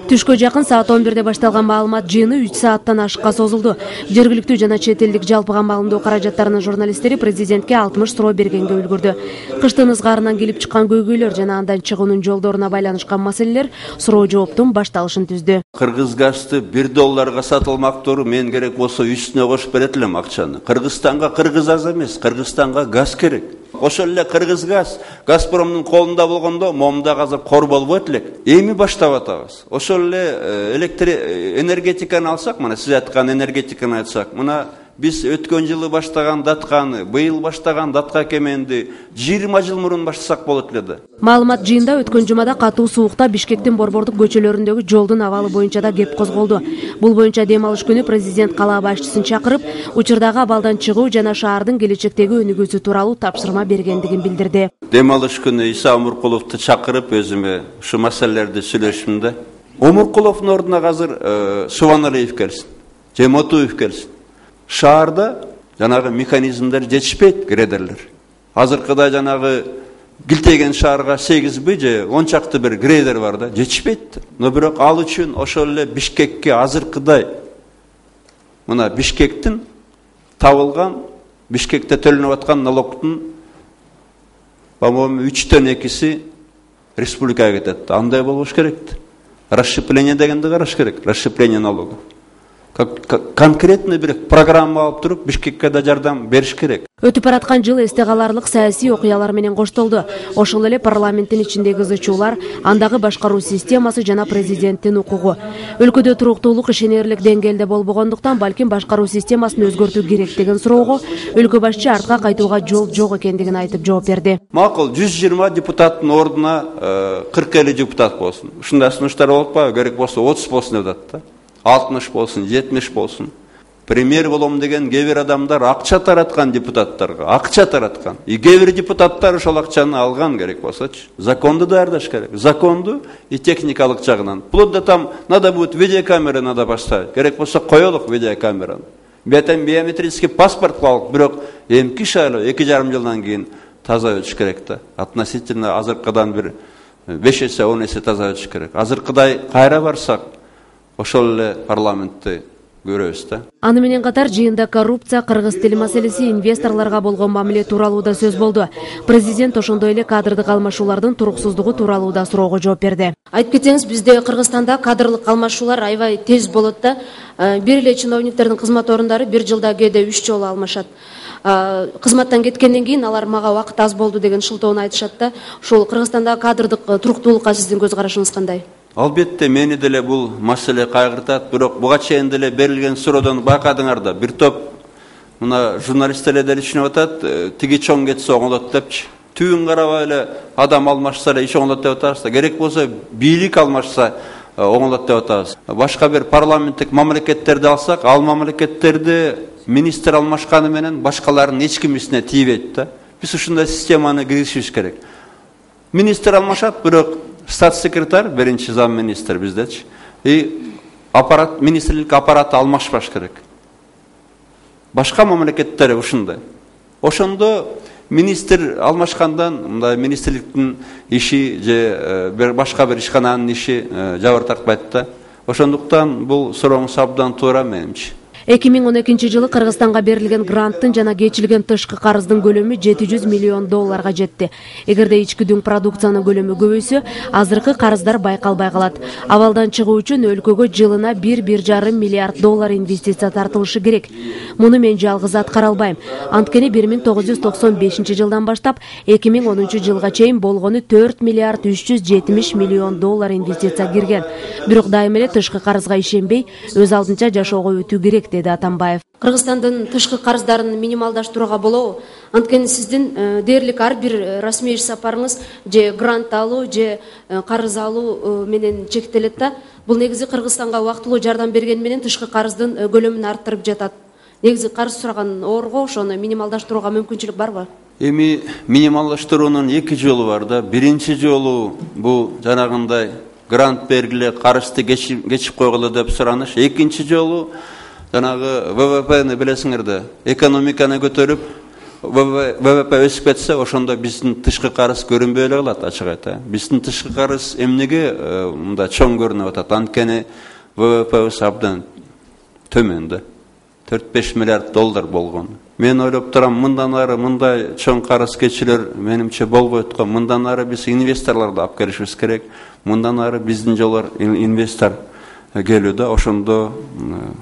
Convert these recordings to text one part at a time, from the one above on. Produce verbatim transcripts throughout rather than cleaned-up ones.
Түшкө жакын саат он бирде башталган маалымат жыйыны үч сааттан ашыкка созулду. Жергиликтүү жана чет элдик жалпыга маалымдоо каражаттарынын журналисттери президентке алтымыш суроо бергенге үлгүрдү. Кыштын ызгаарынан келип чыккан көйгөйлөр жана андан чыгуунун жолдоруна байланышкан маселелер суроо жооптун башталышын түздү. Кыргыз газды бир долларга сатылмактыр, мен керек болсо үстүнө кошуп берет элем акчаны. Кыргызстанга кыргыз аз эмес, Кыргызстанга газ керек. Ошол эле Кыргыз газ Газпромдун колунда болгондо момдак азыр кор болбойт элек. Эми баштап атабыз. Ошол эле электр энергетиканы алсак, мына сиз айткан энергетиканы айтсак, мына биз өткөн жылы баштаган датканы, быйыл баштаган датка кеменди жыйырма жыл мурун баштасак болот эле да. Маалымат жыйында өткөн жумада катуу суукта Бишкектин борбордук көчөлөрүндөгү жолдун абалы боюнча да кеп козголду. Бул боюнча дем алыш күнү президент калаа башчысын чакырып, учурдагы абалдан чыгуу жана шаардын келечектеги өнүгүүсү тууралуу тапшырма бергендигин билдирди. Дем алыш күнү Иса Омуркуловду чакырып өзүмө ушу маселелерди сүйлөшүм да. Омуркуловдун ордуна азыр Субаналиев келсин, же Мотуев келсин. Шаарда жанагы механизмдер жетишпейт, грейдерлер. Азыркыда жанагы Килтеген шаарга сегизби же он чакты бир грейдер бар да, жетишпейт. Но бирок ал үчүн ошол эле Бишкекке азыркыдай мына Бишкектин табылган, Бишкекте төлөнүп аткан налогдун по-моему үчтөн экиси республикага кетет. Андай болуш керек. Расщепление дегенди караш керек. Расщепление налога. Конкретно бир программа алып туруп Бишкекке да жардам бериш керек. Өтүп бараткан жыл эсте каларлык саясий окуялар менен коштолду. Ошол эле парламенттин ичиндеги кызычуулар, андагы башкаруу системасы жана президенттин укугу. Өлкөдө туруктуулук ишенерлик деңгээлде болбогондуктан балким башкаруу системасын өзгөртүү керек деген суроого өлкө башчы артка кайтууга жол жок экендигин айтып жооп берди. Макул жүз жыйырма депутаттын ордуна кырк элүү депутат болсун. Ушундай сунуштар болуп атпайбы? Керек болсо отуз болсун деп атат да. алтымыш болсун, жетимиш болсун. Премьер болом деген кээ бир адамдар акча тараткан депутаттарга, акча тараткан. И кээ бир депутаттар ошол акчаны алган керек болсочу. Законду даярдаш керек. Законду и техникалык жагынан. Вплоть до там надо будет видеокамера надо поставить. Керек болсо коелук видеокамераны. Бетен биометрический паспорт кылып, бирок эмки шайлоо эки жарым жылдан кийин таза өтүш керек да. Относительно азыркыдан бир беш эсе, он эсе таза өтүш керек. Азыркыдай кайра барсак ошол эле парламентти көрөбүз да. Аны менен катар жыйында коррупция, кыргыз тили маселеси, инвесторлорго болгон мамиле тууралуу да сөз болду. Президент ошондой эле кадрдык алмашуулардын туруксуздугу тууралуу да суроого жооп берди. Айтып кетсеңиз, бизде Кыргызстанда кадрлык алмашуулар аябай тез болот да. Бир эле чиновниктердин кызмат орундары бир жылда кээде үч жолу алмашат. Кызматтан кеткенден кийин алар мага убакыт аз болду деген шылтоону айтышат да. Ошол Кыргызстандагы кадрдык туруктуулукка сиздин көз карашыңыз кандай? Албетте мени деле бул маселе кайгыртат, бирок буга чейин деле берилген суроодон байкадыңар да, бир топ мына журналисттер деле түшүнүп атат, тиги чоң кетсе оңолот депчи. Түбүн карабай эле адам алмашса эле иш оңолот деп атабыз да, керек болсо бийлик алмашса оңолот деп атабыз. Башка бир парламенттик мамлекеттерди алсак, ал мамлекеттерди министр алмашканы менен башкалардын эч кимисине тийбейт да. Биз ушундай системаны киргизишибиз керек. Министр алмашат, бирок статс-секретарь, биринчи зам министр биздечи. И аппарат, министрлик аппараты алмашпаш керек. Башка мамлекеттер ушундай. Ошондо министр алмашкандан мындай министрликтин иши же бир башка бир ишкананын иши жабыр тартпайт да. Ошондуктан бул сурооңуз абдан туура менимче. эки миң он экинчи жылы Кыргызстанга берилген гранттын жана кечилген тышкы карыздын көлөмү жети жүз миллион долларга жетти. Эгерде ички дүң продукциянын көлөмү көбөйсө, азыркы карыздар байкалбай калат. Абалдан чыгуу үчүн өлкөгө жылына бир бир жарым миллиард доллар инвестиция тартылышы керек. Муну мен жалгыз аткара албайм. Анткени бир миң тогуз жүз токсон бешинчи жылдан баштап эки миң онунчу жылга чейин болгону төрт миллиард үч жүз жетимиш миллион доллар инвестиция кирген. Бирок дайыма эле тышкы карызга ишенбей, өз алдынча жашоого өтүү керек, деди Атамбаев. Кыргызстандын тышкы карыздарын минималдаштырууга болобу? Анткени сиздин дээрлик ар бир расмий иш сапарыңыз же грант алуу же карыз алуу менен чектелет да. Бул негизи Кыргызстанга убактылуу жардам берген менен тышкы карыздын көлөмүн арттырып жатат. Негизи карыз сураган орго ошону минималдаштырууга мүмкүнчүлүк барбы? Эми минималдаштыруунун эки жолу бар да. Биринчи жолу бул жанагындай грант бергиле, карызды кечип койгулу деп сураныш. Экинчи жолу жанагы вэ вэ пэни билесиңер да, экономиканы көтөрүп, вэ вэ пэ өсүп кетсе, ошондо биздин тышкы карыз көрүнбөй эле калат, ачык айта. Биздин тышкы карыз эмнеге мындай чоң көрүнүп атат? Анткени вэ вэ пэбиз абдан төмөн да. төрт беш миллиард доллар болгон. Мен ойлоп турам, мындан ары мындай чоң карыз кечилер менимче болбойт го. Мындан ары биз инвесторлорду алып келишибиз керек. Мындан ары биздин жолор инвестор келүүдө, ошондо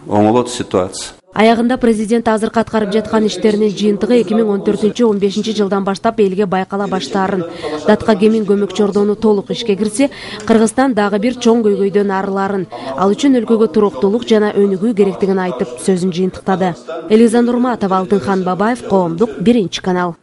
оңолот ситуация. Аягында президент азыркы аткарып жаткан иштеринин жыйынтыгы эки миң он төртүнчү он бешинчи жылдан баштап элге байкала баштаарын. Датка Кемин көмөк чордону толук ишке кирсе, Кыргызстан дагы бир чоң көйгөйдөн арыларын, ал үчүн өлкөгө туруктуулук жана өнүгүү керектигин айтып сөзүн жыйынтыктады. Элиза Нурматова, Алтынхан Бабаев, Коомдук, биринчи канал.